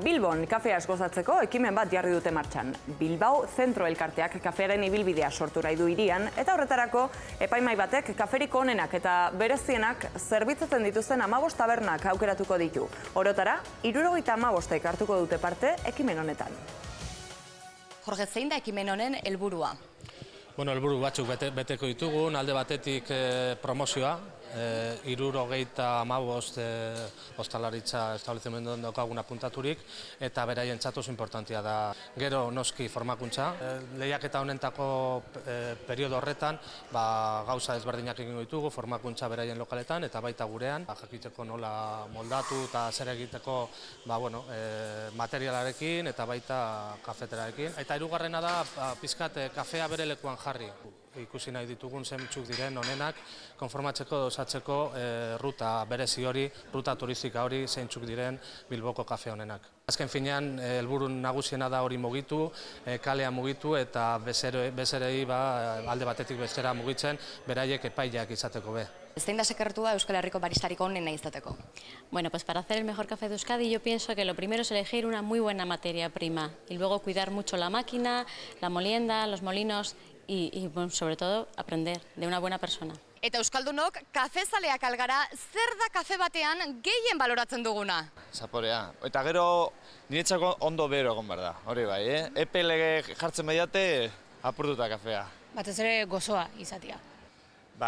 Bilbon kafeaz gozatzeko ekimen bat jarri dute martxan. Bilbao Zentro Elkarteak kafearen ibilbidea sortu nahi du hirian, eta horretarako epaimai batek kaferiko onenak eta berezienak zerbitzatzen dituzten 15 tabernak aukeratuko ditu. Orotara, 75 hartuko dute parte ekimen honetan. Jorge, zein da ekimen honen helburua? Helburu batzuk beteko ditugun, alde batetik promozioa, 75 ostalaritza establezimenduan daukaguna puntaturik, eta beraien oso importantia da. Gero noski formakuntza. Lehiaketa honentako periodo horretan gauza ezberdinak egingo ditugu, formakuntza beraien lokaletan eta baita gurean. Jakiteko nola moldatu eta zer egiteko materialarekin eta baita kafeterarekin. Eta hirugarrena da pizkat kafea bere lekuan jarri. Ikusi nahi ditugun zeintzuk diren honenak, konformatzeko osatzeko ruta berezi hori, ruta turistika hori zeintzuk diren Bilboko kafe honenak. Azken finean, helburu nagusiena da hori mugitu, kalea mugitu eta bezerei alde batetik bestera mugitzen, beraiek epaileak izateko be. Zein da sekretua Euskal Herriko baristarik onena izateko? Bueno, pues para hacer el mejor café de Euskadi yo pienso que lo primero es elegir una muy buena materia prima y luego cuidar mucho la máquina, la molienda, los molinos y sobre todo aprender de una buena persona. Eta Euskaldunok, kafezaleak algara, zer da kafe batean gehien baloratzen duguna? Zaporea. Eta gero niretzako ondo bero egon behar da, hori bai, Epe lege jartzen badiate apurtuta kafea. Batez ere gozoa izatea.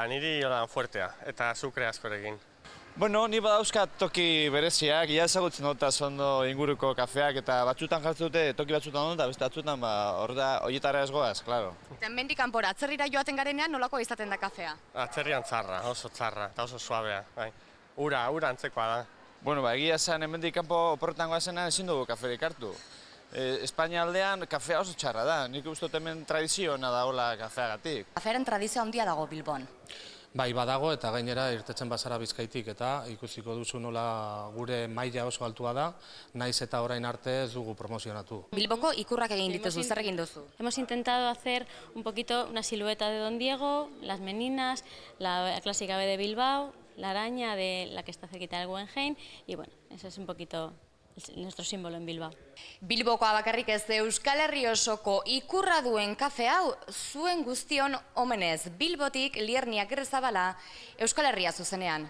Niri fuertea eta azukre askorekin. Ni badauzkat toki bereziak, ia ezagutzen dut ondo inguruko kafeak eta batzutan jartzen dute toki batzutan ondo eta beste batzutan horietara ez goaz, klaro. Eta mendik kanpora, atzerrira joaten garenean nolako izaten da kafea? Atzerrian txarra, oso txarra eta oso suabea. Ura antzekoa da. Egia esan hemendik kanpo oporretan goazena ezin dugu kaferik hartu. Espainia aldean kafea oso txarra da, nik uste dut hemen tradiziona da hola kafeagatik. Kafearen tradizioa handia dago Bilbon. Bai, badago eta gainera irtetzen bazara Bizkaitik eta ikusiko duzu nola gure maila oso altua da, naiz eta orain arte ez dugu promozionatu. Bilboko ikurrak egin dituzu, zer egin duzu? Hemos intentado hacer un poquito una silueta de Don Diego, las meninas, la clásica B de Bilbao, la araña de la que está cerquita del Guggenheim y bueno, eso es un poquito nuestro símbolo en Bilbao. Bilbokoa bakarrik ez, Euskal Herri osoko ikurra duen kafe hau zuen guztion omenez. Bilbotik Liernia Gerrezabala, Euskal Herria zuzenean.